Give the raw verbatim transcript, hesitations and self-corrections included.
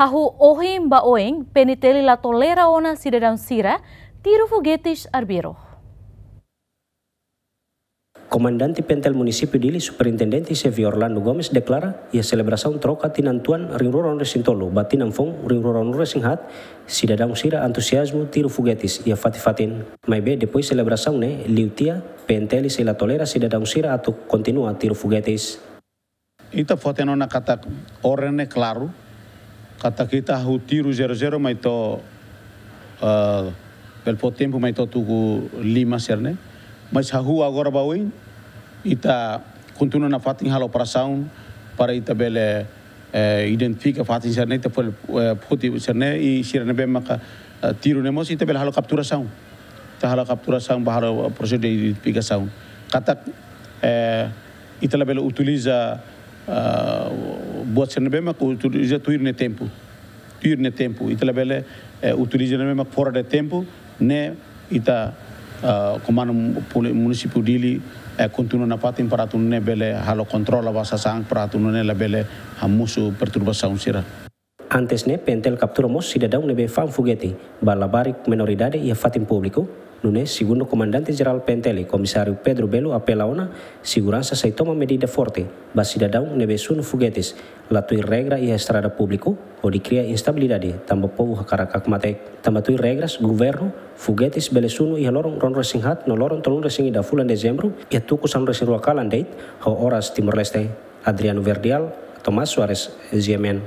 Hahú ohin ba oin, P N T L la tolera ona sidadaun sira tiru fogetes arbiru. Komandante P N T L Munisípiu Dili, Superintendente Xavier Orlando Gomes, deklara iha selebrasaun troka tinan tuan rihun rua ruanulu-resin-tolu ba tinan foun rihun rua ruanulu-resin-haat, sidadaun sira antuziazmu tiru fogetes iha fatin-fatin. Maibé depois selebrasaun ne'e, liu tiha, P N T L sei la tolera sidadaun sira atu kontinua tiru fogetes. Ita fó-hatene ona katak orden ne'e klaru, katak ita hahú tiru zero zero mai to'o, eh, bele fó tempu mai to'o tuku lima sira-ne'e. Mas hahú agora ba oin, ita kontinua nafatin halo operasaun para ita bele, eh, identifika fatin sira-ne'e, ita fó, eh, foti sira-ne'e, i sira ne'ebé maka, eh, tiru ne'e mós ita bele halo kapturasaun. Ita halo kapturasaun, ba halo prosesu de identifikasaun. Katak, eh, ita labele utiliza, ah, buat sira ne'ebé maka utiliza tuir nia tempu. Tuir nia tempu. Ita labele, eh, utiliza ne'ebé maka fora de tempu, ne'e ita, ah, komandu poli-, Munisípiu Dili, eh, kontinua nafatin para atu nune'e bele halo kontrola ba sasán para atu nune'e labele hamosu perturbasaun sira. Antes ne'e, P N T L kaptura mós sidadaun ne'ebé fa'an fogete ba labarik menoridade iha fatin públiku. Nune'e, segundu Komandante Jerál P N T L, Komisáriu Pedro Belo, apela ona seguransa sei toma medida forte ba sidadaun ne'ebé sunu fogetes la tuir regra iha estrada públiku, hodi kria instabilidade tanba povu hakarak hakmatek. Tanba tuir regras governu, fogetes bele sunu iha loron ruanulu-resin-haat no loron tolunulu-resin-ida fulan Dezembru, iha tuku sanulu-resin-rua kalan de'it, ho oras Timor-Leste. Adriano Verdial, Tomás Soares, G M N.